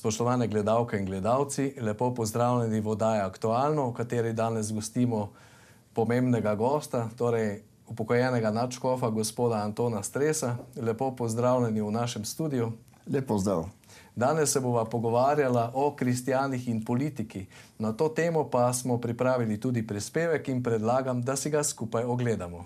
Spoštovane gledalke in gledalci, lepo pozdravljeni v oddaji Aktualno, v kateri danes gostimo pomembnega gosta, torej upokojenega nadškofa gospoda Antona Stresa. Lepo pozdravljeni v našem studiu. Lep pozdrav. Danes se bova pogovarjala o kristjanih in politiki. Na to temo pa smo pripravili tudi prispevek in predlagam, da si ga skupaj ogledamo.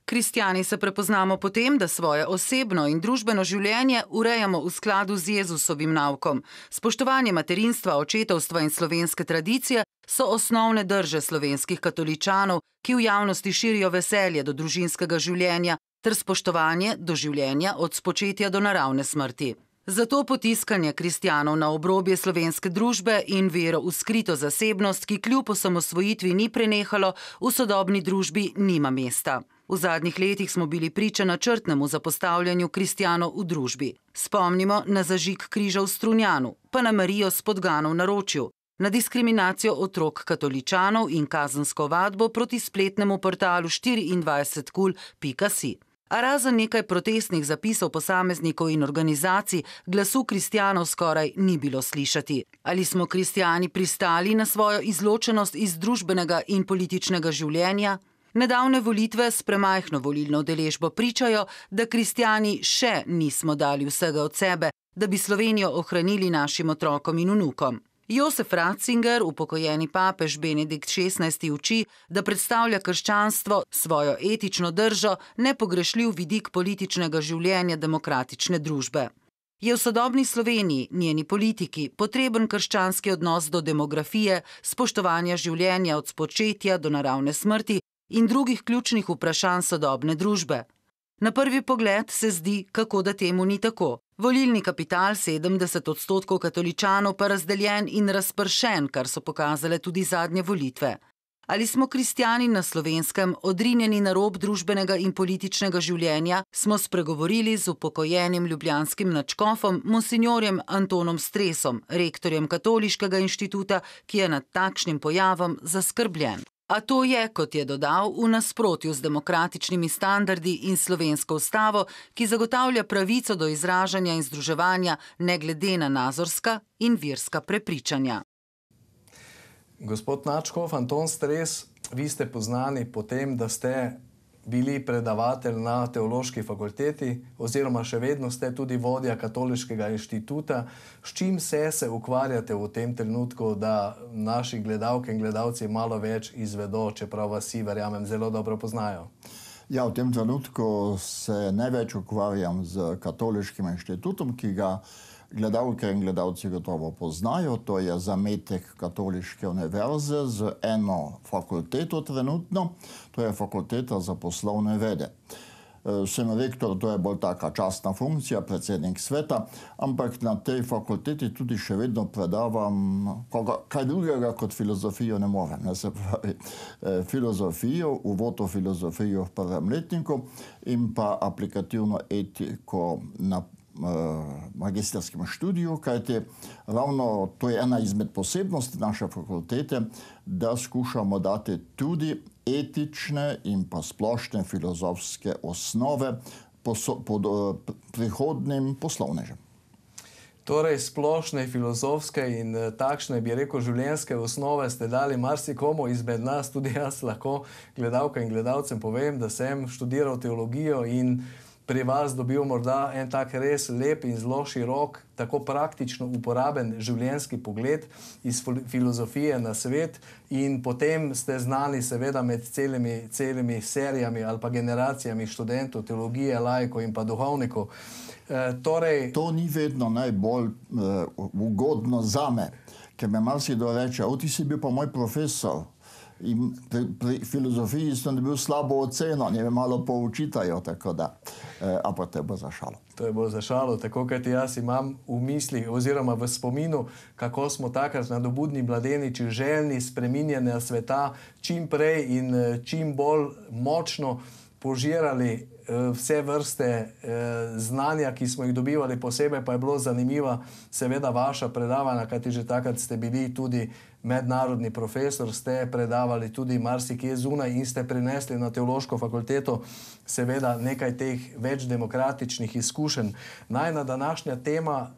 Kristjani se prepoznamo po tem, da svoje osebno in družbeno življenje urejamo v skladu z Jezusovim naukom. Spoštovanje materinstva, očetovstva in slovenske tradicije so osnovne drže slovenskih katoličanov, ki v javnosti širijo veselje do družinskega življenja ter spoštovanje do življenja od spočetja do naravne smrti. Zato potiskanje kristjanov na obrobje slovenske družbe in vero v skrito zasebnost, ki kljub osamosvojitvi ni prenehalo, v sodobni družbi nima mesta. V zadnjih letih smo bili priča načrtnemu zapostavljanju kristjanov v družbi. Spomnimo na zažig križa v Strunjanu, pa na Marijo s Podgano v Naročju, na diskriminacijo otrok katoličanov in kazensko ovadbo proti spletnemu portalu 24kul.si. A razen nekaj protestnih zapisov posameznikov in organizacij, glasu kristjanov skoraj ni bilo slišati. Ali smo kristjani pristali na svojo izločenost iz družbenega in političnega življenja? Nedavne volitve s premajhno volilno udeležbo pričajo, da kristjani še nismo dali vsega od sebe, da bi Slovenijo ohranili našim otrokom in vnukom. Josef Ratzinger, upokojeni papež Benedikt XVI, uči, da predstavlja krščanstvo svojo etično držo nepogrešljiv vidik političnega življenja demokratične družbe. Je v sodobni Sloveniji, njeni politiki, potreben krščanski odnos do demografije, spoštovanja življenja od spočetja do naravne smrti in drugih ključnih vprašanj sodobne družbe? Na prvi pogled se zdi, kako da temu ni tako. Volilni kapital 70% katoličanov pa razdeljen in razpršen, kar so pokazale tudi zadnje volitve. Ali smo kristjani na Slovenskem odrinjeni na rob družbenega in političnega življenja, smo spregovorili z upokojenim ljubljanskim nadškofom monsinjorjem Antonom Stresom, rektorjem Katoliškega inštituta, ki je nad takšnim pojavom zaskrbljen. A to je, kot je dodal, v nasprotju z demokratičnimi standardi in slovensko ustavo, ki zagotavlja pravico do izražanja in združevanja ne glede na nazorska in verska prepričanja. Gospod nadškof Anton Stres, vi ste poznani po tem, da ste bili predavatelj na teološki fakulteti oziroma še vedno ste tudi vodja Katoliškega inštituta. S čim se ukvarjate v tem trenutku, da naši gledalke in gledalci malo več izvedo, čeprav vas vsi, verjamem, zelo dobro poznajo? Ja, v tem trenutku se največ ukvarjam z Katoliškim inštitutom, ki ga gledalke in gledalci gotovo poznajo. To je zametek Katoliške univerze z eno fakulteto trenutno, to je fakulteta za poslovne vede. Sem rektor, to je bolj taka častna funkcija, predsednik sveta, ampak na tej fakulteti tudi še vedno predavam kaj drugega kot filozofijo ne morem. Se pravi, filozofijo, uvod v filozofijo v prvem letniku in pa aplikativno etiko na magisterskem študiju, kajti ravno to je ena izmed posebnosti naše fakultete, da skušamo dati tudi etične in pa splošne filozofske osnove prihodnim poslovnežem. Torej, splošne filozofske in takšne, bi rekel, življenjske osnove ste dali marsikomu izmed nas, tudi jaz lahko gledalkam in gledalcem povem, da sem študiral teologijo in pri vas dobil morda en tak res lep in zelo širok, tako praktično uporaben življenjski pogled iz filozofije na svet in potem ste znani seveda med celimi serijami ali pa generacijami študentov teologije, laikov in pa duhovnikov. To ni vedno najbolj ugodno zame, ker me marsikdo reče, ti si bil pa moj profesor. In pri filozofiji sem dobil slabo oceno, ne me malo poučitajo, tako da, ampak to je bolj za šalo. To je bolj za šalo, tako kot jaz imam v mislih oziroma v spominu, kako smo takrat nadobudni mladeniči željni spreminjanja sveta čim prej in čim bolj močno požirali vse vrste znanja, ki smo jih dobivali, posebej pa je bilo zanimiva seveda vaša predavanja, kajti že takrat ste bili tudi mednarodni profesor, ste predavali tudi marsikje zunaj in ste prinesli na teološko fakulteto seveda nekaj teh več demokratičnih izkušenj. Najna današnja tema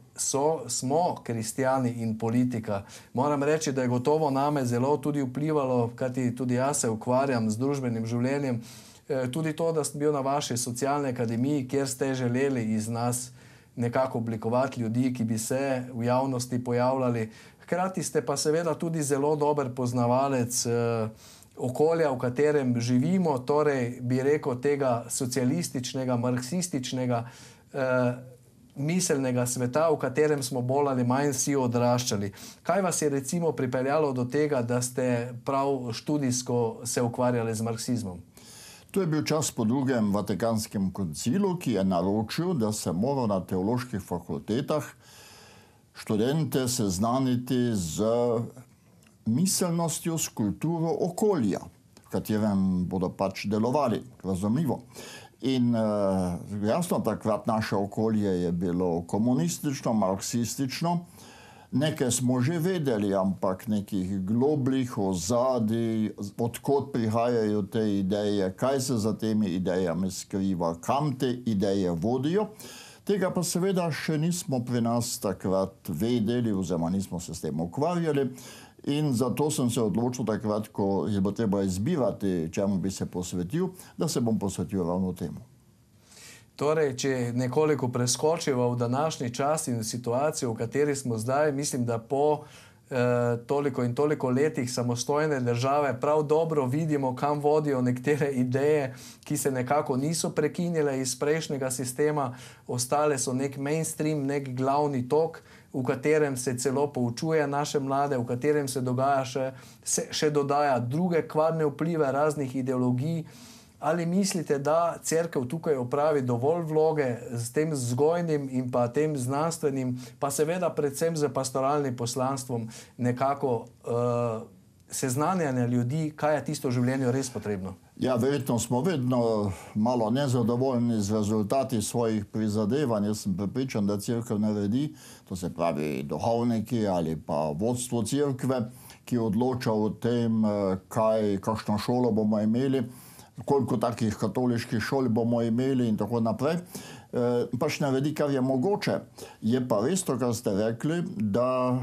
smo kristjani in politika. Moram reči, da je gotovo name zelo tudi vplivalo, kajti tudi jaz se ukvarjam z družbenim življenjem, tudi to, da sem bil na vaši socialni akademiji, kjer ste želeli iz nas nekako oblikovati ljudi, ki bi se v javnosti pojavljali. Hkrati ste pa seveda tudi zelo dober poznavalec okolja, v katerem živimo, torej bi rekel tega socialističnega, marksističnega, miselnega sveta, v katerem smo bolj ali manj vsi odraščali. Kaj vas je recimo pripeljalo do tega, da ste prav študijsko se ukvarjali z marksizmom? To je bil čas po drugem Vatikanskem koncilu, ki je naročil, da se mora na teoloških fakultetah študente seznaniti z miselnostjo, s kulturo okolja, v katerem bodo pač delovali, razumljivo. In jasno, takrat naše okolje je bilo komunistično, marksistično. Nekaj smo že vedeli, ampak nekih globljih ozadij, odkot prihajajo te ideje, kaj se za temi idejami skriva, kam te ideje vodijo. Tega pa seveda še nismo pri nas takrat vedeli, oziroma nismo se s tem ukvarjali. In zato sem se odločil takrat, ko je bilo treba izbirati, čemu bi se posvetil, da se bom posvetil ravno temu. Torej, če nekoliko preskočiva v današnji čas in situacijo, v kateri smo zdaj, mislim, da po toliko in toliko letih samostojne države prav dobro vidimo, kam vodijo nekatere ideje, ki se nekako niso prekinile iz prejšnjega sistema, ostale so nek mainstream, nek glavni tok, v katerem se celo poučuje naše mlade, v katerem se dogaja še dodaja druge kvadne vplive raznih ideologij. Ali mislite, da cerkev tukaj opravi dovolj vloge s tem vzgojnim in pa tem znanstvenim, pa seveda predvsem z pastoralnim poslanstvom nekako seznanjanja ljudi, kaj je tisto v življenju res potrebno? Ja, verjetno smo vedno malo nezadovoljni z rezultati svojih prizadevanj. Jaz sem prepričan, da cerkev naredi, to se pravi duhovniki ali pa vodstvo cerkve, ki odloča o tem, kakšno šolo bomo imeli, koliko takih katoliških šol bomo imeli in tako naprej, pač naredi, kar je mogoče. Je pa res to, kar ste rekli, da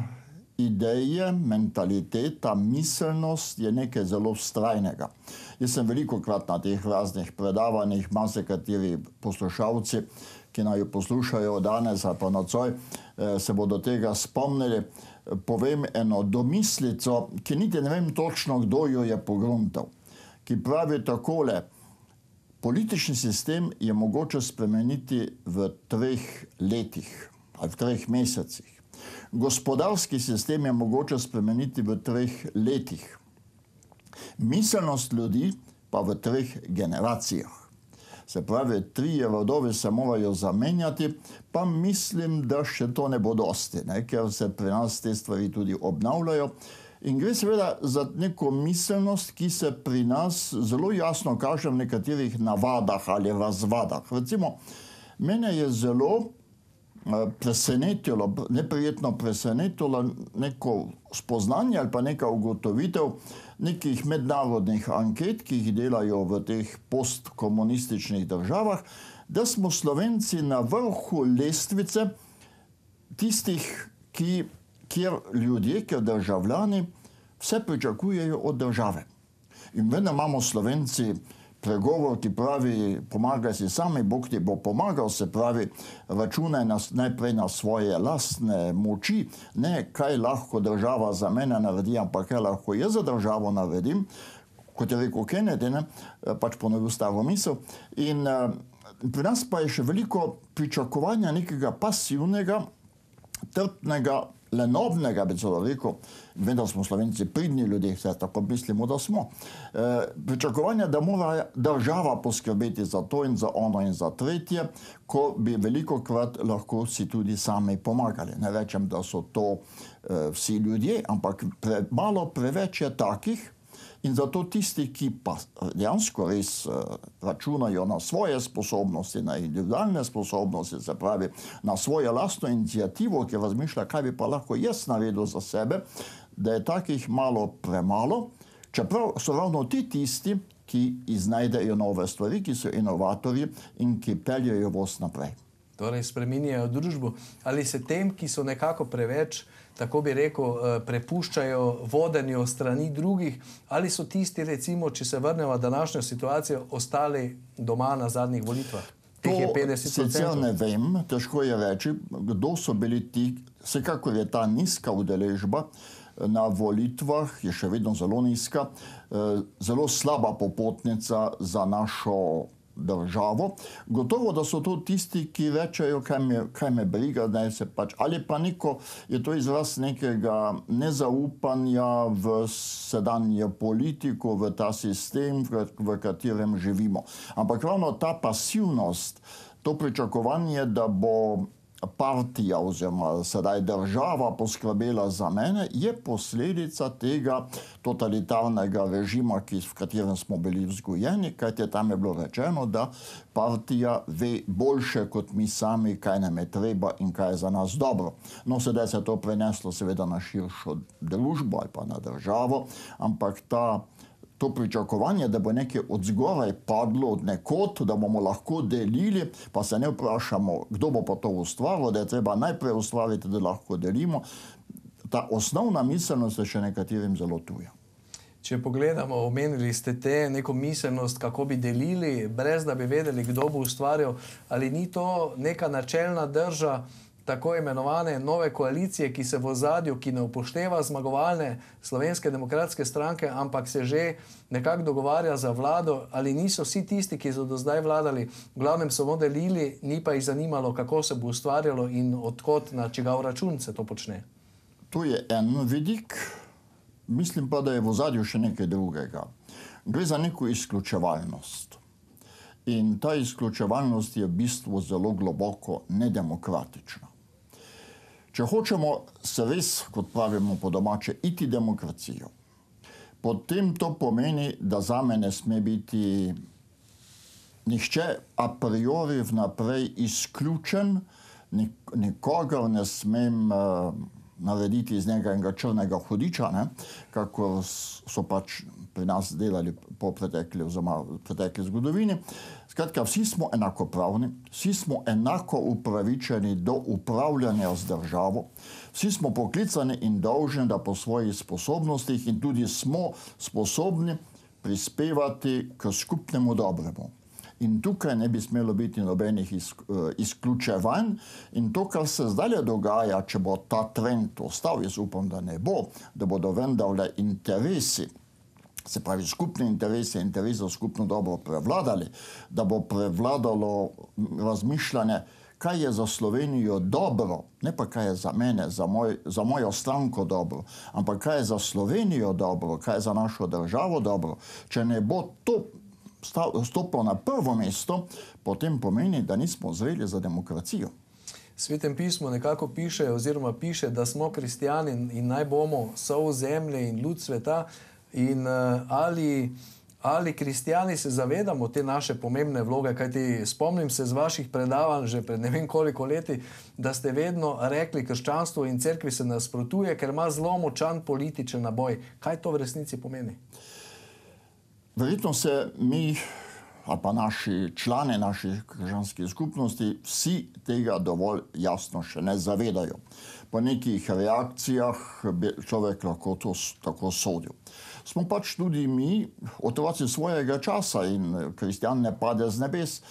ideje, mentaliteta, miselnost je nekaj zelo vztrajnega. Jaz sem velikokrat na teh raznih predavanjih, marsikateri poslušalci, ki naj jo poslušajo danes ali pa nocoj, se bodo tega spomnili. Povem eno domislico, ki niti ne vem točno, kdo jo je pogruntal, ki pravi takole: politični sistem je mogoče spremeniti v 3 letih ali v 3 mesecih. Gospodarski sistem je mogoče spremeniti v 3 letih. Miselnost ljudi pa v 3 generacijah. Se pravi, 3 rodovi se morajo zamenjati, pa mislim, da še to ne bo dosti, ker se pri nas te stvari tudi obnavljajo. In gre seveda za neko miselnost, ki se pri nas zelo jasno kaže v nekaterih navadah ali razvadah. Recimo, mene je zelo presenetilo, neprijetno presenetilo neko spoznanje ali pa neka ugotovitev nekih mednarodnih anket, ki jih delajo v teh postkomunističnih državah, da smo Slovenci na vrhu lestvice tistih, kjer ljudje, kjer državljani vse pričakujejo od države. In vedno imamo Slovenci pregovor, ki pravi: pomagaj si sami, Bog ti bo pomagal, se pravi, računaj najprej na svoje lastne moči, ne kaj lahko država za mene naredi, ampak kaj lahko jaz za državo naredim, kot je rekel Kennedy, pač ponovil staro misel. In pri nas pa je še veliko pričakovanja nekega pasivnega, trpnega, lenobnega, bi celo rekel. Vem, da smo Slovenci pridni ljudje, vse tako mislimo, da smo. Pričakovanja, da mora država poskrbeti za to in za ono in za tretje, ko bi velikokrat lahko si tudi sami pomagali. Ne rečem, da so to vsi ljudje, ampak malo preveč je takih. In zato tisti, ki pa dejansko res računajo na svoje sposobnosti, na individualne sposobnosti, se pravi na svojo lastno inicijativo, ki razmišlja, kaj bi pa lahko jaz naredil za sebe, da je takih malo premalo, čeprav so ravno ti tisti, ki iznajdejo nove stvari, ki so inovatorji in ki peljejo voz naprej. torej spreminjajo družbo, ali se tem, ki so nekako preveč, tako bi rekel, prepuščajo vodenju strani drugih, ali so tisti, recimo, če se vrnemo v današnjo situacijo, ostali doma na zadnjih volitvah? To sicer ne vem, težko je reči, kdo so bili ti. Vsekakor je ta nizka udeležba na volitvah, je še vedno zelo nizka, zelo slaba popotnica za našo državo. Gotovo, da so to tisti, ki rečejo, kaj me briga, da se pač, ali pa je to izraz nekega nezaupanja v sedanje politiko, v ta sistem, v katerem živimo. Ampak ravno ta pasivnost, to pričakovanje, da bo partija oziroma sedaj država poskrbela za mene, je posledica tega totalitarnega režima, v katerem smo bili vzgojeni, kajti tam je bilo rečeno, da partija ve boljše kot mi sami, kaj nam je treba in kaj je za nas dobro. No, sedaj se je to preneslo seveda na širšo družbo ali pa na državo, ampak to pričakovanje, da bo nekaj od zgoraj padlo od nekod, da bomo lahko delili, pa se ne vprašamo, kdo bo pa to ustvaril, da je treba najprej ustvariti, da lahko delimo. Ta osnovna miselnost je še nekaterim zelo tuja. Če pogledamo, omenili ste neko miselnost, kako bi delili, brez da bi vedeli, kdo bo ustvarjal, ali ni to neka načelna drža tako imenovane nove koalicije, ki se v ozadju, ki ne upošteva zmagovalne Slovenske demokratske stranke, ampak se že nekako dogovarja za vlado, ali niso vsi tisti, ki so do zdaj vladali, v glavnem samo delili, ni pa jih zanimalo, kako se bo ustvarjalo in odkot na čigav račun se to počne? To je en vidik, mislim pa, da je v ozadju še nekaj drugega. Gre za neko izključevalnost. In ta izključevalnost je v bistvu zelo globoko nedemokratična. Če hočemo se res, kot pravimo po domače, iti demokracijo, potem to pomeni, da zame ne sme biti nihče a priori vnaprej izključen, nikogar ne smem narediti iz njega enega črnega hudiča, kako so pač pri nas delali po pretekli zgodovini. Skratka, vsi smo enakopravni, vsi smo enako upravičeni do upravljanja z državo, vsi smo poklicani in dolžni, da po svojih sposobnostih in tudi smo sposobni prispevati k skupnemu dobremu. In tukaj ne bi smelo biti nobenih izključevanj. In to, kar se zdaj dogaja, če bo ta trend ostal, jaz upam, da ne bo, da bodo vendarle interesi, se pravi skupni interesi, interesi za skupno dobro prevladali, da bo prevladalo razmišljanje, kaj je za Slovenijo dobro, ne pa kaj je za mene, za mojo stranko dobro, ampak kaj je za Slovenijo dobro, kaj je za našo državo dobro. Če ne bo to stopil na prvo mesto, potem pomeni, da nismo zreli za demokracijo. V Svetem pismu nekako piše, oziroma piše, da smo kristjani in naj bomo sol zemlje in ljud sveta. In ali kristjani se zavedamo te naše pomembne vloge, kajti spomnim se z vaših predavanj že pred ne vem koliko leti, da ste vedno rekli, krščanstvo in cerkvi se nasprotuje, ker ima zelo močan političen naboj. Kaj to v resnici pomeni? Verjetno se mi, ali pa naši člani naših krščanskih skupnosti, vsi tega dovolj jasno še ne zavedajo. Po nekih reakcijah bi človek lahko to tako sodil. Smo pač tudi mi otroci svojega časa in kristjan ne pade z nebes.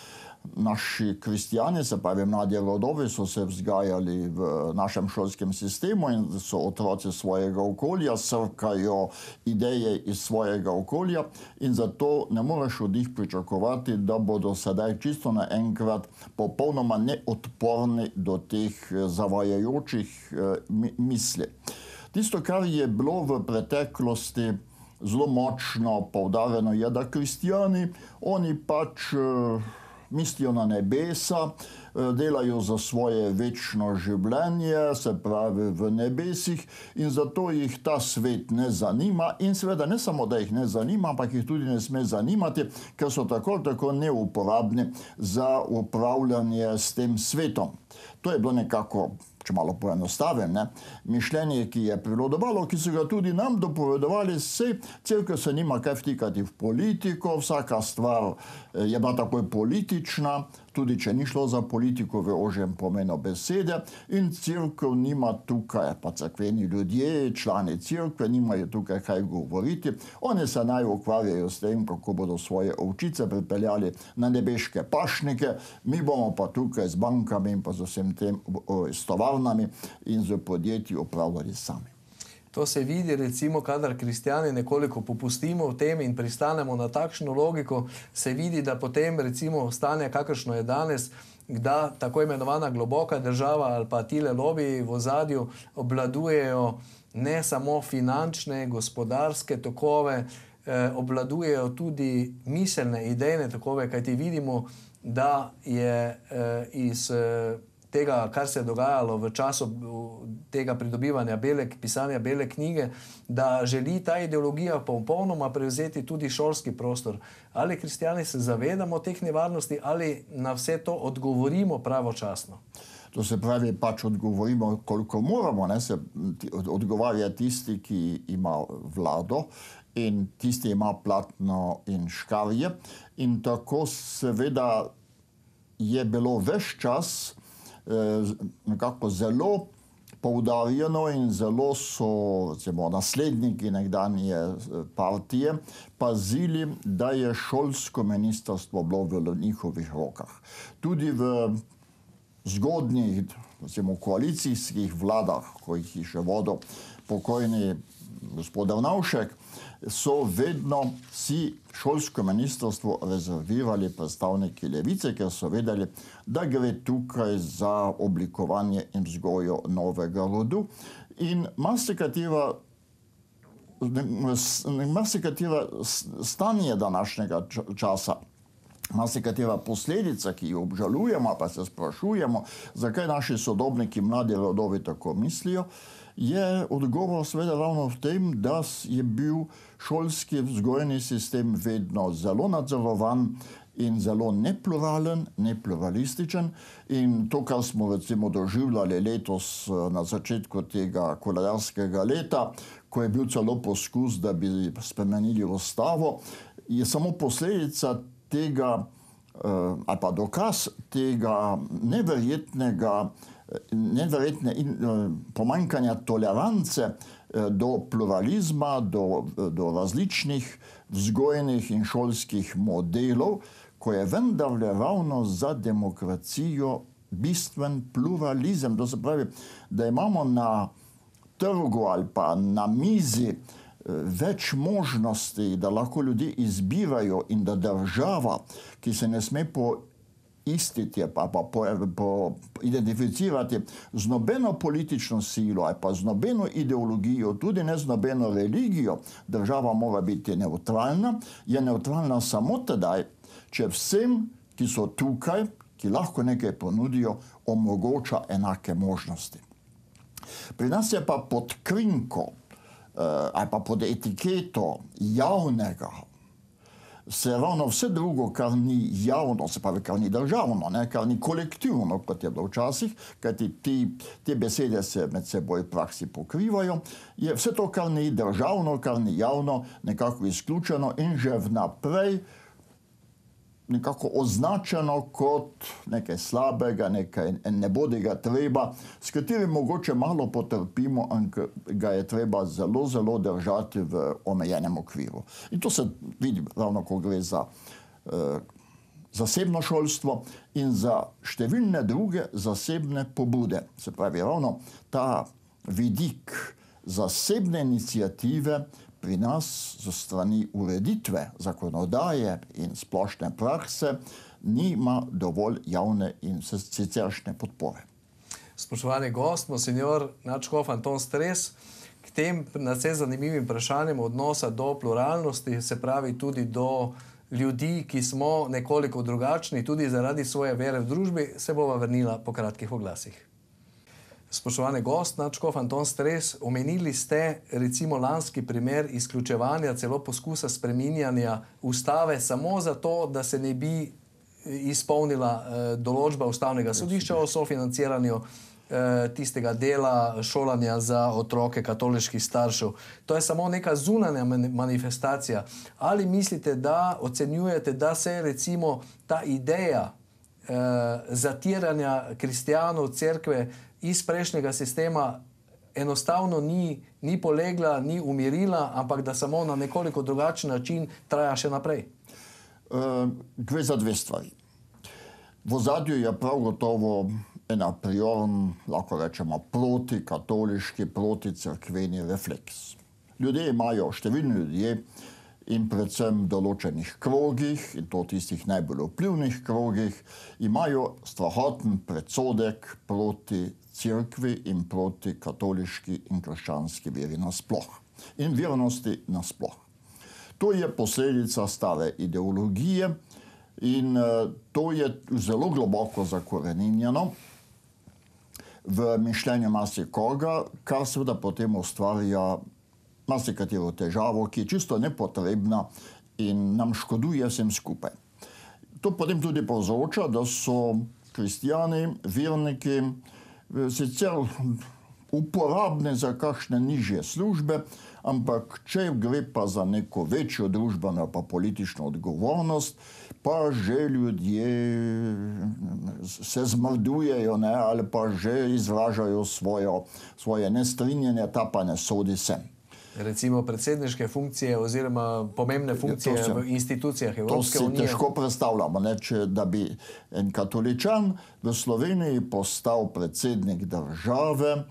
Naši kristjani, se pravi mladi rodovi, so se vzgajali v našem šolskem sistemu in so otroci svojega okolja, srkajo ideje iz svojega okolja in zato ne moreš od njih pričakovati, da bodo sedaj čisto naenkrat popolnoma neodporni do teh zavajajočih misli. Tisto, kar je bilo v preteklosti zelo močno poudarjeno, je, da kristjani, oni pač mislijo na nebesa, delajo za svoje večno življenje, se pravi v nebesih, in zato jih ta svet ne zanima. In seveda ne samo, da jih ne zanima, ampak jih tudi ne sme zanimati, ker so tako neuporabni za upravljanje s tem svetom. To je bilo nekako, če malo poenostavim, mišljenje, ki je prevladovalo, ki so ga tudi nam dopovedovali, cerkev se nima kaj vtikati v politiko, vsaka stvar je bila takoj politična. tudi če ni šlo za politiko v ožjem pomenu besede, in crkva nima tukaj, pa cerkveni ljudje, člani crkve, nimajo tukaj kaj govoriti. Oni se naj ukvarjajo s tem, kako bodo svoje ovčice pripeljali na nebeške pašnike, mi bomo pa tukaj z bankami in pa z vsem tem, s tovarnami in z podjetji upravljali sami. To se vidi, recimo, kadar kristjani nekoliko popustimo v tem in pristanemo na takšno logiko, se vidi, da potem, recimo, stanje, kakršno je danes, da tako imenovana globoka država ali pa tile lobiji v ozadju obvladujejo ne samo finančne, gospodarske tokove, obvladujejo tudi miselne, idejne tokove, kajti vidimo, da je iz tega, kar se je dogajalo v času tega pridobivanja pisanja bele knjige, da želi ta ideologija popolnoma prevzeti tudi šolski prostor. Ali kristjani se zavedamo teh nevarnosti ali na vse to odgovorimo pravočasno? To se pravi, pač odgovorimo, koliko moramo, ne, se odgovarja tisti, ki ima vlado in tisti ima platno in škarje. In tako seveda je bilo ves čas nekako zelo poudarjeno in zelo so, recimo, nasledniki nekdanje partije pazili, da je šolsko ministrstvo bilo v njihovih rokah. Tudi v zgodnjih, recimo, koalicijskih vladah, ko jih je še vodil pokojni gospod Drnovšek, so vedno si šolsko ministrstvo rezervirali predstavniki levice, ker so vedeli, da gre tukaj za oblikovanje in vzgojo novega rodu. In marsikatera stanje današnjega časa, marsikatera posledica, ki jo obžalujemo, pa se sprašujemo, zakaj naši sodobniki, mladi rodovi tako mislijo, je odgovor seveda ravno v tem, da je bil šolski vzgojni sistem vedno zelo nadzorovan in zelo nepluralen, nepluralističen. In to, kar smo recimo doživljali letos na začetku tega koledarskega leta, ko je bil celo poskus, da bi spremenili ustavo, je samo posledica tega, ali pa dokaz tega neverjetne pomanjkanja tolerance do pluralizma, do različnih vzgojnih in šolskih modelov, ko je vendarle ravno za demokracijo bistven pluralizem. To se pravi, da imamo na trgu ali pa na mizi več možnosti, da lahko ljudje izbirajo in da država, ki se ne sme poistiti, pa identificirati z nobeno politično silo ali pa z nobeno ideologijo, tudi ne z nobeno religijo, država mora biti nevtralna, je nevtralna samo tedaj, če vsem, ki so tukaj, ki lahko nekaj ponudijo, omogoča enake možnosti. Pri nas je pa pod krinko ali pa pod etiketo javnega se ravno vse drugo, kar ni javno, se pravi, kar ni državno, ne, kar ni kolektivno, kot je bilo včasih, kajti te besede se med seboj v praksi pokrivajo, je vse to, kar ni državno, kar ni javno, nekako izključeno in že vnaprej nekako označeno kot nekaj slabega, nekaj nebodiga treba, s katerim mogoče malo potrpimo, ampak ga je treba zelo, zelo držati v omejenem okviru. In to se vidi ravno, ko gre za zasebno šolstvo in za številne druge zasebne pobude. Se pravi, ravno ta vidik zasebne iniciative pri nas zo strani ureditve, zakonodaje in splošne prakse nima dovolj javne in siceršnje podpore. Spoštovani gost, monsignor nadškof Anton Stres, k tem nadvse zanimivim vprašanjem odnosa do pluralnosti, se pravi tudi do ljudi, ki smo nekoliko drugačni, tudi zaradi svoje vere v družbi, se bova vrnila po kratkih oglasih. Spoštovani gost, nadškof Anton Stres, omenili ste recimo lanski primer izključevanja, celo poskusa spreminjanja ustave samo zato, da se ne bi izpolnila določba ustavnega sodišča o sofinanciranju tistega dela šolanja za otroke katoliških staršev. To je samo neka zunanja manifestacija. Ali mislite, da ocenjujete, da se recimo ta ideja zatiranja kristjanov, cerkve iz prejšnjega sistema enostavno ni polegla, ni umirila, ampak da samo na nekoliko drugačen način traja še naprej? Gre za dve stvari. V ozadju je prav gotovo en a priorn, lahko rečemo, protikatoliški, proticrkveni refleks. Ljudje imajo, številni ljudje, in predvsem v določenih krogih, in to tistih najbolj vplivnih krogih, imajo strahoten predsodek proti cerkvi in proti katoliški in krščanski veri nasploh. In vernosti nasploh. To je posledica stare ideologije in to je zelo globoko zakoreninjeno v mišljenju marsikoga, kar seveda potem ustvarja marsikatero težavo, ki je čisto nepotrebna in nam škoduje vsem skupaj. To potem tudi povzroča, da so kristjani, verniki, sicer uporabni za kakšne nižje službe, ampak če gre pa za neko večjo družbeno pa politično odgovornost, pa že ljudje se zmrdujejo, ne, ali pa že izražajo svoje nestrinjenje, ta pa ne sodi sem. Recimo predsedniške funkcije oziroma pomembne funkcije v institucijah Evropske unije. To si težko predstavljamo, ne, da bi en katoličan v Sloveniji postal predsednik države,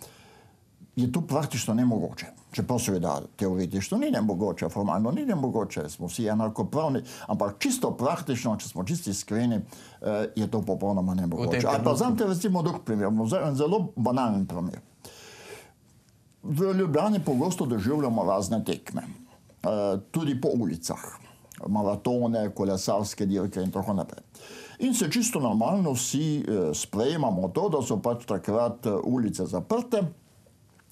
je to praktično nemogoče. Čeprav seveda teoretično ni nemogoče, formalno ni nemogoče, smo vsi enakopravni, ampak čisto praktično, če smo čisto iskreni, je to popolnoma nemogoče. Ali pa vzamete recimo drug primer, en zelo banalen primer. V Ljubljani pogosto doživljamo razne tekme, tudi po ulicah, maratone, kolesarske dirke in tako naprej. In se čisto normalno vsi sprejemamo to, da so pač takrat ulice zaprte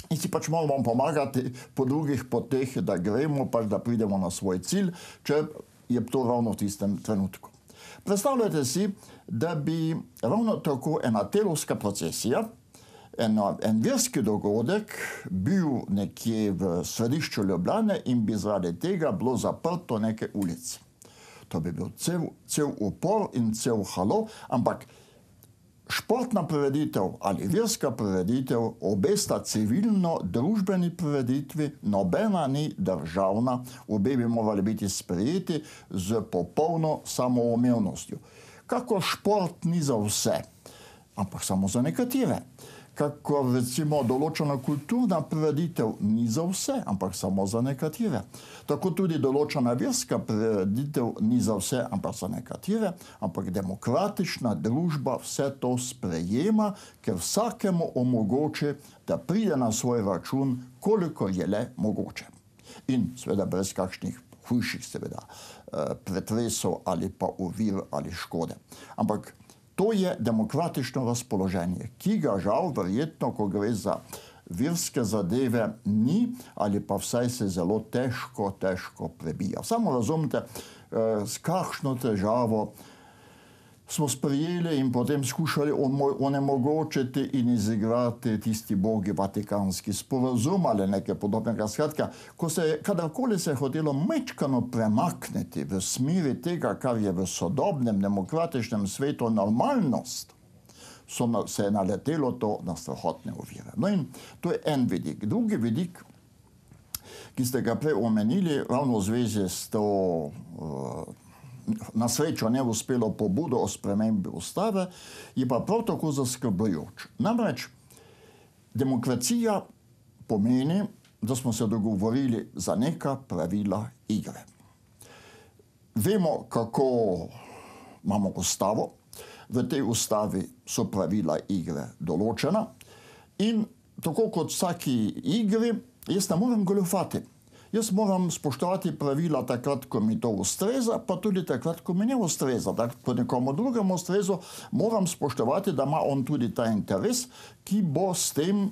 in si pač moramo pomagati po drugih poteh, da gremo, pač da pridemo na svoj cilj, če je to ravno v tistem trenutku. Predstavljajte si, da bi ravno tako ena telovska procesija, en verski dogodek bil nekje v središču Ljubljane in bi zaradi tega bilo zaprto neke ulice. To bi bil cel upor in cel halo, ampak športna prireditev ali verska prireditev, obe sta civilno-družbeni prireditvi, nobena ni državna, obe bi morali biti sprejeti z popolno samoumevnostjo. Kako šport ni za vse, ampak samo za nekatere. Kako recimo določena kulturna prireditev ni za vse, ampak samo za nekatere. Tako tudi določena verska prireditev ni za vse, ampak za nekatere, ampak demokratična družba vse to sprejema, ker vsakemu omogoči, da pride na svoj račun, koliko je le mogoče. In seveda brez kakšnih hujših seveda pretresov ali pa ovir ali škode. Ampak to je demokratično razpoloženje, ki ga žal verjetno, ko gre za verske zadeve, ni ali pa vsaj se zelo težko prebija. Samo razumete, s kakšno težavo smo sprejeli in potem skušali onemogočiti in izigrati tisti bogi vatikanski sporazum ali nekaj podobnega. Skratka, kadarkoli se je hotelo mečkano premakniti v smeri tega, kar je v sodobnem demokratičnem svetu normalnost, se je naletelo to na strahotne ovire. No in to je en vidik. Drugi vidik, ki ste ga prej omenili, ravno v zvezi s to na srečo neuspelo pobudo o spremembi ustave, je pa prav tako zaskrbljujoč. Namreč demokracija pomeni, da smo se dogovorili za neka pravila igre. Vemo, kako imamo ustavo, v tej ustavi so pravila igre določena in tako kot vsaki igri, jaz ne morem goljufati. Jaz moram spoštovati pravila takrat, ko mi to ustreza, pa tudi takrat, ko mi ne ustreza. Ko nekomu drugemu ustreza, moram spoštovati, da ima on tudi ta interes, ki bo s tem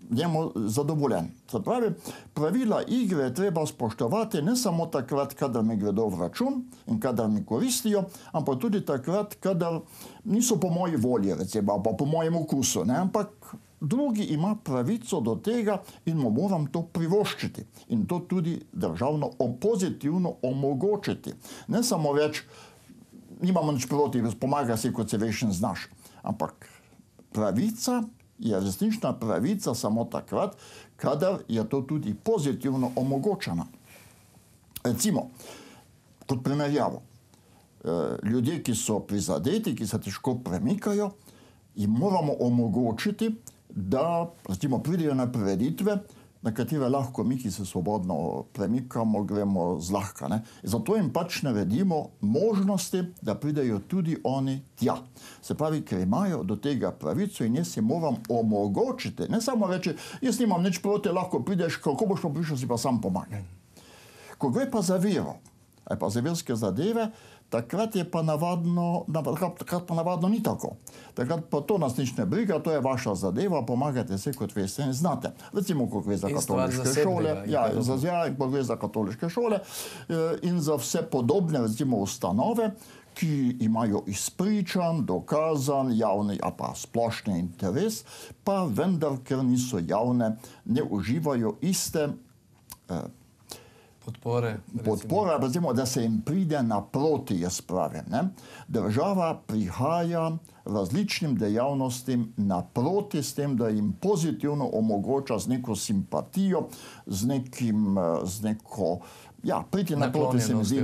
njemu zadovoljen. Se pravi, pravila igre treba spoštovati ne samo takrat, kadar mi gredo v račun in kadar mi koristijo, ampak tudi takrat, kadar niso po moji volji, recimo, pa po mojem okusu, ne? Ampak drugi ima pravico do tega in mu moram to privoščiti. In to tudi državno pozitivno omogočiti. Ne samo več nimamo nič proti, pomaga si, kot se veš in znaš. Ampak pravica je resnična pravica samo takrat, kadar je to tudi pozitivno omogočena. Recimo, kot primerjavo, ljudje, ki so prizadeti, ki se težko premikajo, jim moramo omogočiti, da recimo pridejo na prireditve, na katere lahko mi, ki se svobodno premikamo, gremo zlahka. Zato jim pač naredimo možnosti, da pridejo tudi oni tja. Se pravi, ker imajo do tega pravico in jaz si moram omogočiti, ne samo reči, jaz nimam nič proti, lahko prideš, kako boš pa prišel, si pa sam pomagaj. Ko gre pa za vero, ali pa za verske zadeve, takrat pa navadno ni tako. Takrat pa to nas nič ne briga, to je vaša zadeva, pomagajte se, kot veste in znate. Recimo, ko gre za katoliške šole, ko gre za katoliške šole in za vse podobne, recimo, ustanove, ki imajo izpričan, dokazan, javni, a pa splošni interes, pa vendar, ker niso javne, ne uživajo iste podpora, recimo, da se jim pride naproti, jaz pravim. Država prihaja različnim dejavnostim naproti s tem, da jim pozitivno omogoča z neko simpatijo, priti naproti se mi zdi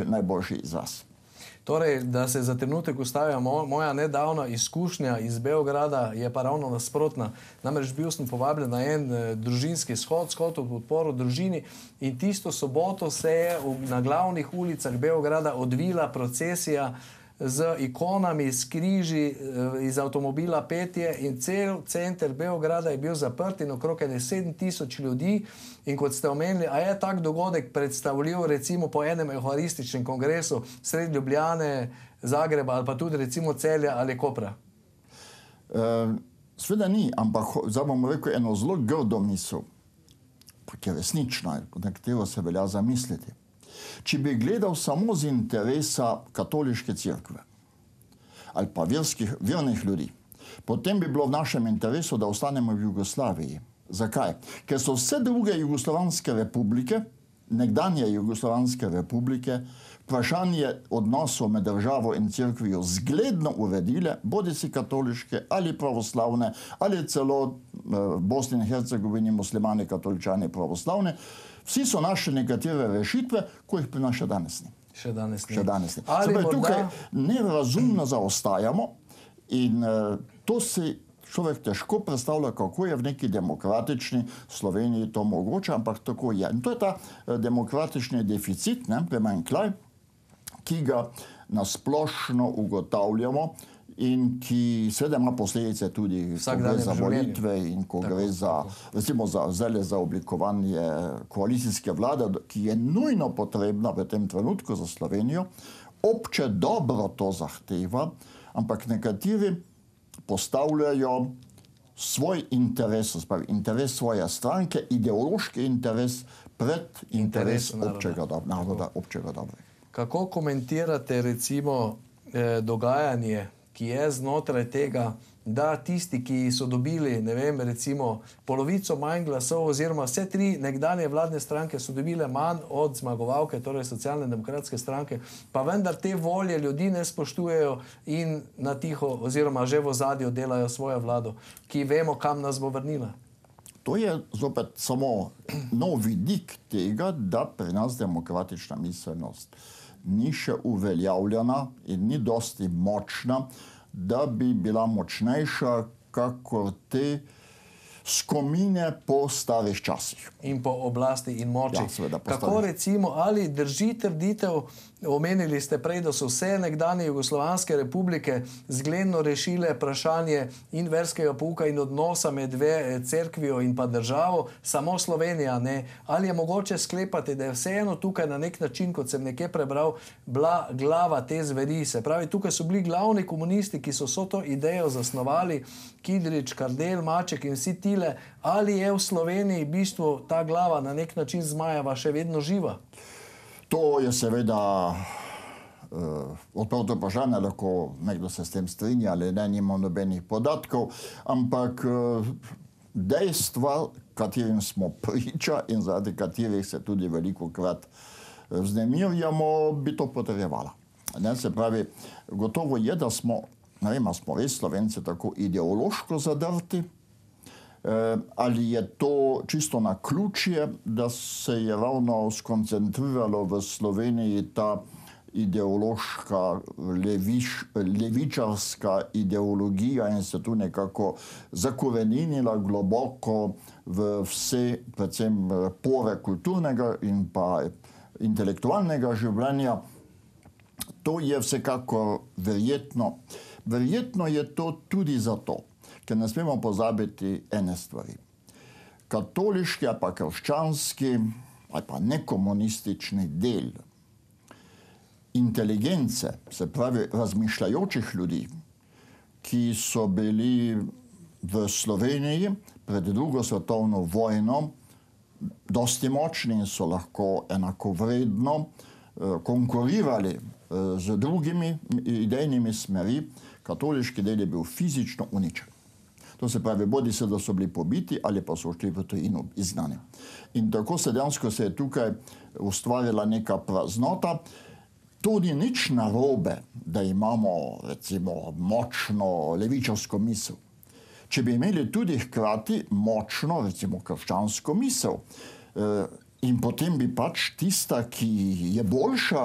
najboljši izraz. Torej, da se za trenutek ustavim, moja nedavna izkušnja iz Beograda je pa ravno nasprotna. Namreč bil sem povabljen na en družinski shod v podporo družini in tisto soboto se je na glavnih ulicah Beograda odvila procesija z ikonami, s križi, iz avtomobila petje in cel center Beograda je bil zaprt in okrog 7000 ljudi. In kot ste omenili, a je tak dogodek predstavljiv recimo po enem euharističnem kongresu sredi Ljubljane, Zagreba ali pa tudi recimo Celja ali Kopra? Sveda ni, ampak zdaj bom rekel eno zelo grdo misel, ki je resnična, na katero se velja zamisliti. Če bi gledal samo z interesa katoliške cerkve ali pa vernih ljudi, potem bi bilo v našem interesu, da ostanemo v Jugoslaviji. Zakaj? Ker so vse druge jugoslovanske republike, nekdanje jugoslovanske republike, vprašanje odnosov med državo in cerkvijo zgledno uredile, bodisi katoliške ali pravoslavne, ali celo v Bosni in Hercegovini muslimani, katoličani, pravoslavne. Vsi so našli nekatere rešitve, ko jih pri nas še danes ni. Še danes ni. Še danes ni. Tukaj nerazumno zaostajamo in to si človek težko predstavlja, kako je v neki demokratični Sloveniji to mogoče, ampak tako je. In to je ta demokratični deficit, primanjkljaj, ki ga nasplošno ugotavljamo in ki seveda ima posledice tudi, ko gre za volitve in ko gre za, recimo za oblikovanje koalicijske vlade, ki je nujno potrebna v tem trenutku za Slovenijo. Obče dobro to zahteva, ampak nekateri postavljajo svoj interes, interes svoje stranke, ideološki interes pred interes naroda, občega dobrega. Kako komentirate recimo dogajanje, ki je znotraj tega, da tisti, ki so dobili, ne vem, recimo polovico manj glasov oziroma vse tri nekdanje vladne stranke so dobile manj od zmagovalke, torej Socialne demokratske stranke, pa vendar te volje ljudi ne spoštujejo in na tiho oziroma že v ozadju delajo svojo vlado, ki vemo, kam nas bo vrnila. To je zopet samo nov vidik tega, da pri nas demokratična miselnost ni še uveljavljena in ni dosti močna, da bi bila močnejša kakor te skomine po starih časih. In po oblasti in moči. Ja, seveda, kako recimo, ali drži trditev, omenili ste prej, da so vse nekdanje jugoslovanske republike zgledno rešile vprašanje in verskega pouka in odnosa med cerkvijo in pa državo, samo Slovenija ne. Ali je mogoče sklepati, da je vseeno tukaj na nek način, kot sem nekje prebral, bila glava te zveri? Se pravi, tukaj so bili glavni komunisti, ki so to idejo zasnovali, Kidrič, Kardelj, Maček in vsi tile. Ali je v Sloveniji v bistvu ta glava na nek način Zmajeva še vedno živa? To je seveda odprto vprašanje, lahko nekdo se s tem strinja ali ne, nimam nobenih podatkov, ampak dejstva, katerim smo priča in zaradi katerih se tudi velikokrat vznemirjamo, bi to potrjevala. Ne, se pravi, gotovo je, da smo, ne vem, smo res Slovenci tako ideološko zadrti, ali je to čisto na ključje, da se je ravno skoncentriralo v Sloveniji ta ideološka, levičarska ideologija in se tu nekako zakoreninila globoko v vse, predvsem pore kulturnega in pa intelektualnega življenja. To je vsekakor verjetno. Verjetno je to tudi zato, ker ne smemo pozabiti ene stvari. Katoliški ali pa krščanski ali pa nekomunistični del inteligence, se pravi razmišljajočih ljudi, ki so bili v Sloveniji pred drugo svetovno vojno dosti močni in so lahko enakovredno konkurirali z drugimi idejnimi smeri, katoliški del je bil fizično uničen. To se pravi, bodi se, da so bili pobiti ali pa so šli v tujino izgnani. In tako se dejansko se je tukaj ustvarila neka praznota. To ni nič narobe, da imamo recimo močno levičarsko misel. Če bi imeli tudi hkrati močno recimo krščansko misel, in potem bi pač tista, ki je boljša,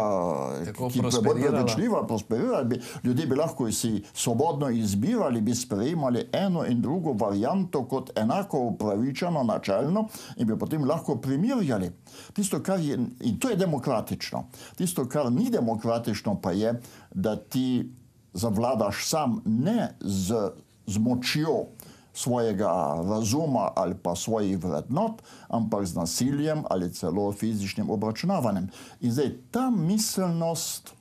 ki je bolj prevečljiva, prosperirala, ljudje bi lahko si svobodno izbirali, bi sprejemali eno in drugo varianto kot enako upravičeno, načelno in bi potem lahko primerjali. Tisto, kar je, in to je demokratično. Tisto, kar ni demokratično, pa je, da ti zavladaš sam ne z močjo svojega razuma ali pa svojih vrednot, ampak z nasiljem ali celo fizičnim obračunavanjem. In zdaj ta miselnost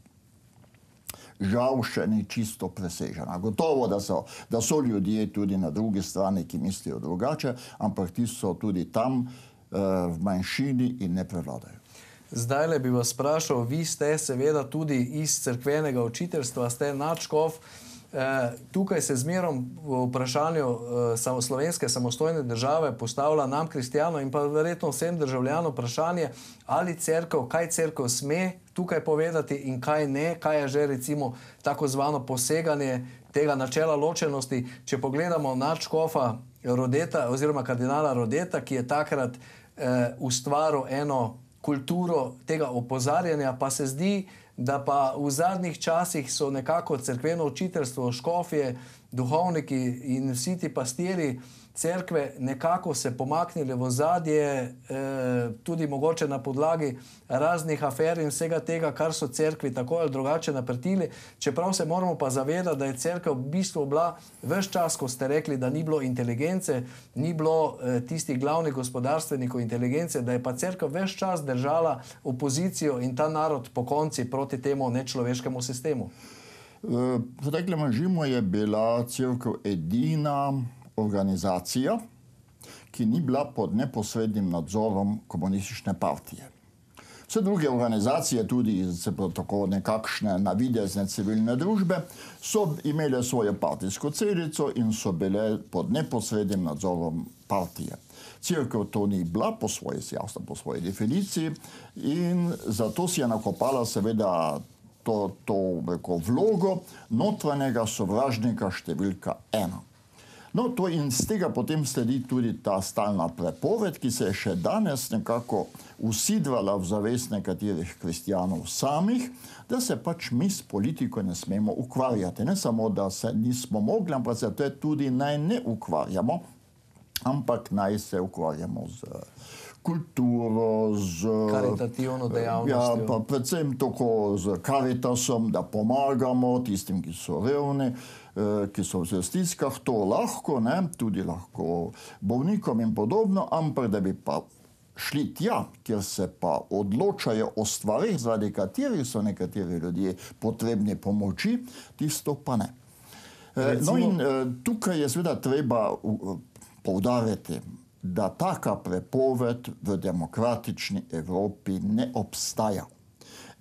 žal še ni čisto presežena. Gotovo, da so ljudje tudi na drugi strani, ki mislijo drugače, ampak ti so tudi tam v manjšini in ne prevladajo. Zdajle bi vas sprašal, vi ste seveda tudi iz cerkvenega učiteljstva, ste nadškof. Tukaj se zmerom v vprašanju slovenske samostojne države postavlja nam, kristijanom, in pa verjetno vsem državljanom vprašanje, ali cerkev, kaj cerkev sme tukaj povedati in kaj ne, kaj je že recimo tako zvano poseganje tega načela ločenosti. Če pogledamo nadškofa Rodeta oziroma kardinala Rodeta, ki je takrat ustvaril eno kulturo tega opozarjanja, pa se zdi, da pa v zadnjih časih so nekako cerkveno učiteljstvo, škofje, duhovniki in vsi ti pastiri cerkve nekako se pomaknili v ozadje, tudi mogoče na podlagi raznih afer in vsega tega, kar so cerkvi tako ali drugače naprtili. Čeprav se moramo pa zavedati, da je cerkev v bistvu bila ves čas, ko ste rekli, da ni bilo inteligence, ni bilo tistih glavnih gospodarstvenikov inteligence, da je pa cerkev ves čas držala opozicijo in ta narod po konci proti temu nečloveškemu sistemu. V preteklem režimu je bila cerkev edina organizacija, ki ni bila pod neposrednim nadzorom komunistične partije. Vse druge organizacije, tudi tako nekakšne navidezne civilne družbe, so imele svojo partijsko celico in so bile pod neposrednim nadzorom partije. Cerkev to ni bila po svoji definiciji in zato si je nakopala seveda to vlogo notranjega sovražnika številka 1. No, to in z tega potem sledi tudi ta stalna prepoved, ki se je še danes nekako usidrala v zavest nekaterih kristijanov samih, da se pač mi s politiko ne smemo ukvarjati. Ne samo, da se nismo mogli, ampak se to tudi naj ne ukvarjamo, ampak naj se ukvarjamo z kulturo, z karitativno dejavnostjo. Ja, pa predvsem tako z Caritasom, da pomagamo tistim, ki so revni, ki so v stiskah, to lahko, ne, tudi lahko bolnikom in podobno, ampak da bi pa šli tja, kjer se pa odločajo o stvarih, zaradi katerih so nekateri ljudje potrebni pomoči, tisto pa ne. No in tukaj je seveda treba poudariti, da taka prepoved v demokratični Evropi ne obstaja.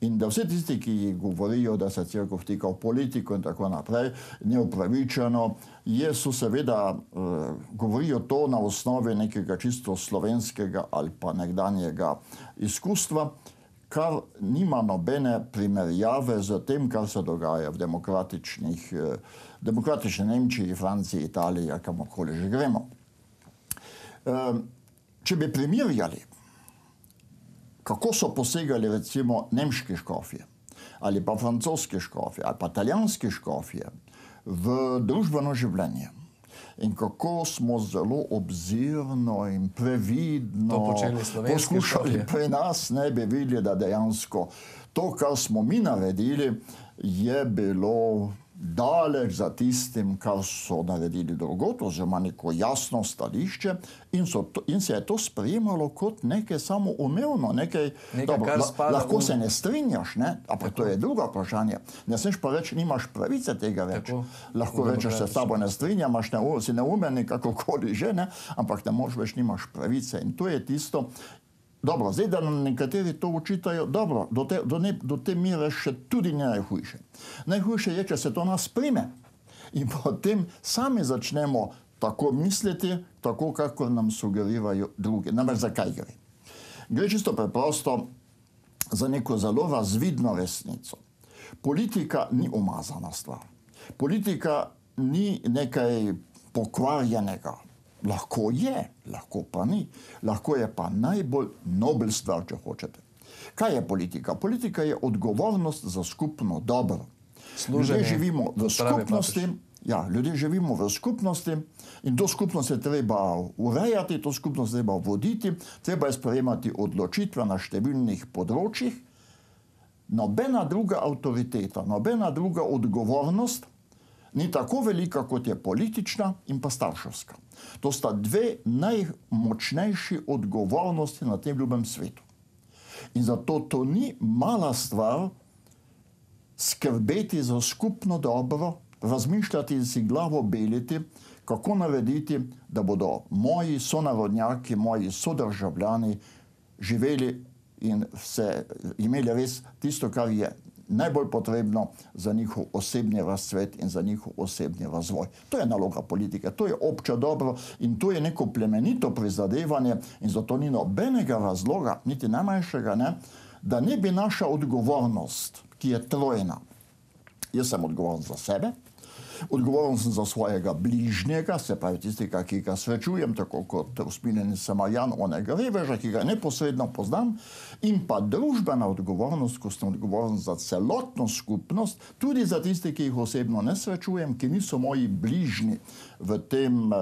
In da vse tisti, ki govorijo, da se cerkev vtika v politiko in tako naprej, neupravičeno, so seveda govorijo to na osnovi nekega čisto slovenskega ali pa nekdanjega izkustva, kar nima nobene primerjave z tem, kar se dogaja v demokratični Nemčiji, Franciji, Italiji, kamorkoli že gremo. Če bi primerjali, kako so posegali recimo nemški škofje, ali pa francoski škofje, ali pa italijanski škofje v družbeno življenje, in kako smo zelo obzirno in previdno poskušali pri nas, ne bi videli, da dejansko to, kar smo mi naredili, je bilo daleč za tistim, kar so naredili drugod, oziroma neko jasno stališče, in se je to sprejemalo kot nekaj samoumevno, lahko se ne strinjaš, ampak to je drugo vprašanje. Ne smeš pa reči, nimaš pravice tega več. Lahko rečeš, se s tabo ne strinjam, si neumen, kakokoli že, ampak ne moreš več, nimaš pravice. In to je tisto. Dobro, zdaj, da nam nekateri to učitajo, dobro, do te mere še tudi ne najhujše. Najhujše je, če se to nas prime. In potem sami začnemo tako misliti, tako kakor nam sugerirajo drugi. Namreč zakaj gre? Gre čisto preprosto za neko zelo razvidno resnico. Politika ni umazana stvar. Politika ni nekaj pokvarjenega. Lahko je, lahko pa ni. Lahko je pa najbolj nobel stvar, če hočete. Kaj je politika? Politika je odgovornost za skupno dobro. Ljudje živimo v skupnosti, ljudje živimo v skupnosti in to skupnost je treba urejati, to skupnost treba voditi, treba je sprejemati odločitve na številnih področjih. Nobena druga avtoriteta, nobena druga odgovornost ni tako velika, kot je politična in pa starševska. To sta dve najmočnejši odgovornosti na tem ljubem svetu. In zato to ni mala stvar skrbeti za skupno dobro, razmišljati in si glavo beliti, kako narediti, da bodo moji sonarodnjaki, moji sodržavljani živeli in imeli res tisto, kar je najbolj potrebno za njihov osebni razcvet in za njihov osebni razvoj. To je naloga politike, to je obče dobro in to je neko plemenito prizadevanje in zato ni nobenega razloga, niti najmanjšega, da ne bi naša odgovornost, ki je trojna. Jaz sem odgovoren za sebe, odgovoren sem za svojega bližnjega, se pravi tistega, ki ga srečujem, tako kot usmiljeni Samarijan, onega reveža, ki ga neposredno poznam, in pa družbena odgovornost, ko sem odgovoren za celotno skupnost, tudi za tiste, ki jih osebno ne srečujem, ki niso moji bližnji v tem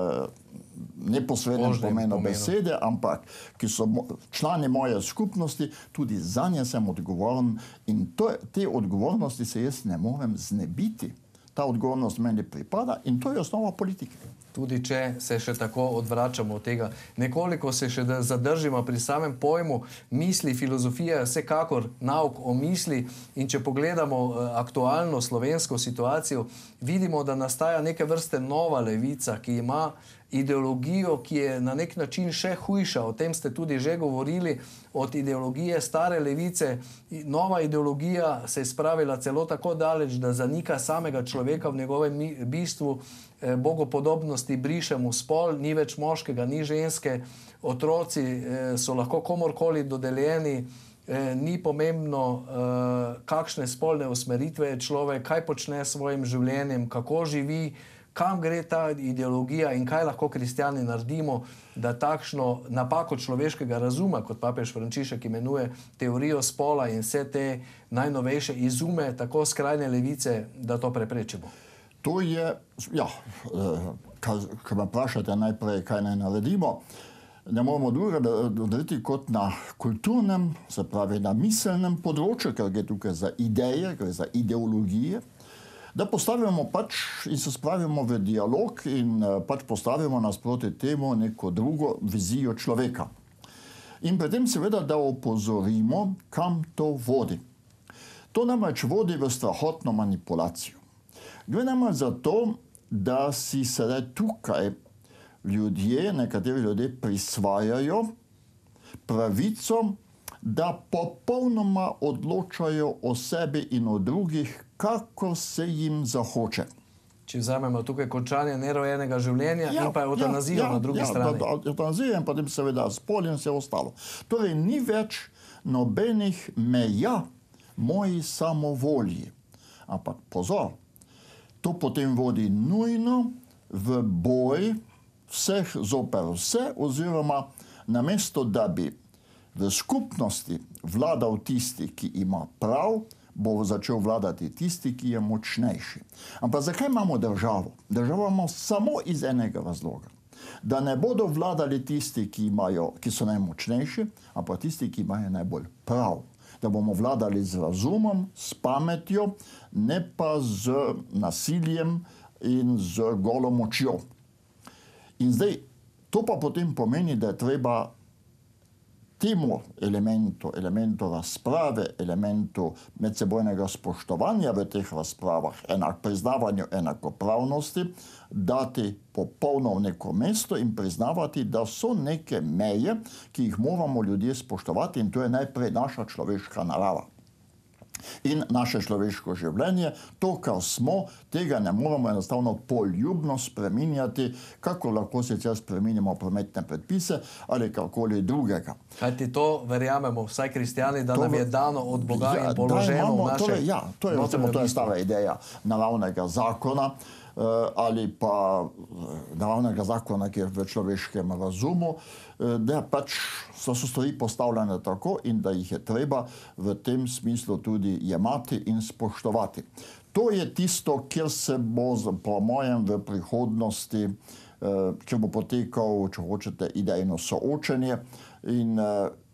neposrednem pomenu besede, ampak ki so člani moje skupnosti, tudi za nje sem odgovoren in te odgovornosti se jaz ne morem znebiti. Ta odgovornost meni pripada in to je osnova politike. Tudi če se še tako odvračamo od tega. Nekoliko se še zadržimo pri samem pojmu misli, filozofije, vsekakor nauk o misli in če pogledamo aktualno slovensko situacijo, vidimo, da nastaja neke vrste nova levica, ki ima ideologijo, ki je na nek način še hujša. O tem ste tudi že govorili, od ideologije stare levice. Nova ideologija se je spravila celo tako daleč, da zanika samega človeka v njegovem bistvu, bogopodobnosti brišemo spol, ni več moškega, ni ženske, otroci so lahko komorkoli dodeljeni, ni pomembno, kakšne spolne usmeritve je človek, kaj počne s svojim življenjem, kako živi, kam gre ta ideologija in kaj lahko kristjani naredimo, da takšno napako človeškega razuma, kot papež Frančišek imenuje teorijo spola in vse te najnovejše izume, tako skrajne levice, da to preprečimo. To je, ko me vprašate najprej, kaj naj naredimo, ne moramo drugega narediti kot na kulturnem, se pravi na miselnem področju, ker gre tukaj za ideje, gre za ideologije, da postavimo in se spravimo v dialog in postavimo nasproti temu neko drugo vizijo človeka. In pri tem seveda, da opozorimo, kam to vodi. To namreč vodi v strahotno manipulacijo. Gre namreč za to, da si sedaj tukaj nekateri ljudje prisvajajo pravico, da popolnoma odločajo o sebi in o drugih, kako se jim zahoče. če vzamemo tukaj končanje nerojenega življenja in pa evtanazijo na drugi strani. Evtanazijo in potem seveda spol in vse ostalo. Torej ni več nobenih meja moji samovolji. Ampak pozor, to potem vodi nujno v boj vseh zoper vse, oziroma namesto, da bi v skupnosti vladal tisti, ki ima prav, bo začel vladati tisti, ki je močnejši. Ampak zakaj imamo državo? Državo imamo samo iz enega razloga. Da ne bodo vladali tisti, ki so najmočnejši, ampak tisti, ki imajo najbolj prav. Da bomo vladali z razumom, s pametjo, ne pa z nasiljem in z golo močjo. In zdaj, to pa potem pomeni, da je treba temu elementu razprave, elementu medsebojnega spoštovanja v teh razpravah, priznavanju enakopravnosti, dati popolno v neko mesto in priznavati, da so neke meje, ki jih moramo ljudje spoštovati, in to je najprej naša človeška narava. In naše človeško življenje, to, kar smo, tega ne moramo enostavno poljubno spreminjati, kako lahko sicer spreminjamo prometne predpise ali karkoli drugega. Kajti to verjamemo, vsaj kristjani, da nam je dano od Boga in položeno v naše... To je stara ideja naravnega zakona, ali pa naravnega zakona, ki je v človeškem razumu, da pač so stvari postavljene tako in da jih je treba v tem smislu tudi jemati in spoštovati. To je tisto, kjer se bo, po mojem, v prihodnosti, kjer bo potekal, če hočete, idejno soočenje. In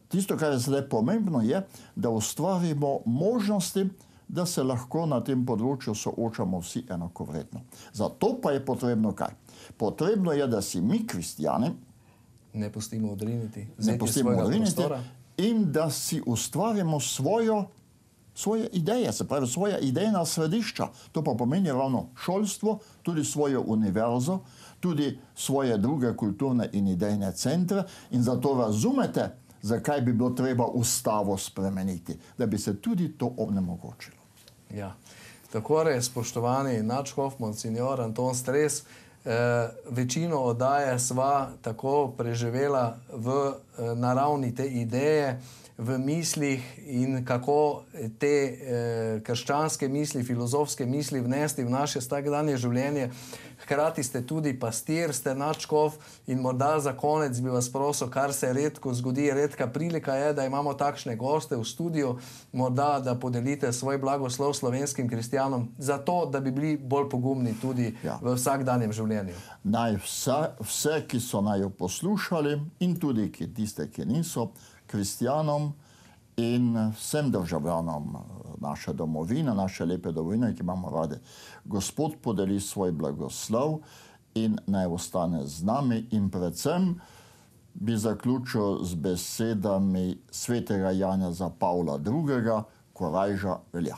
tisto, kar je zdaj pomembno, je, da ustvarimo možnosti, da se lahko na tem področju soočamo vsi enakovredno. Zato pa je potrebno kaj? Potrebno je, da si mi, kristjani, ne pustimo odriniti in da si ustvarimo svoje ideje, se pravi svoja idejna središča. To pa pomeni ravno šolstvo, tudi svojo univerzo, tudi svoje druge kulturne in idejne centre, in zato razumete, zakaj bi bilo treba ustavo spremeniti, da bi se tudi to onemogočilo. Ja, tako je, spoštovani nadškof monsignor Anton Stres, večino oddaje sva tako preživela v naravni te ideje, v mislih in kako te krščanske misli, filozofske misli vnesti v naše vsakdanje življenje. Hkrati ste tudi pastir, ste nadškof in morda za konec bi vas prosil, kar se redko zgodi, redka prilika je, da imamo takšne goste v studiu, morda da podelite svoj blagoslov slovenskim kristjanom, zato da bi bili bolj pogumni tudi v vsakdanjem življenju. Naj vse, ki so naj jo poslušali, in tudi tiste, ki niso, kristjanom in vsem državljanom naše domovine, naše lepe domovine, ki imamo rade, Gospod podeli svoj blagoslov in naj ostane z nami, in predvsem bi zaključil z besedami svetega Janeza Pavla II. Korajža velja.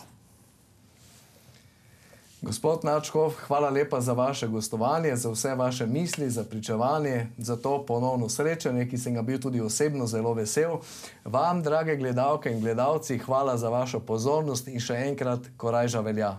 Gospod nadškof, hvala lepa za vaše gostovanje, za vse vaše misli, za pričevanje, za to ponovno srečanje, ki sem ga bil tudi osebno zelo vesel. Vam, drage gledalke in gledalci, hvala za vašo pozornost in še enkrat korajža velja.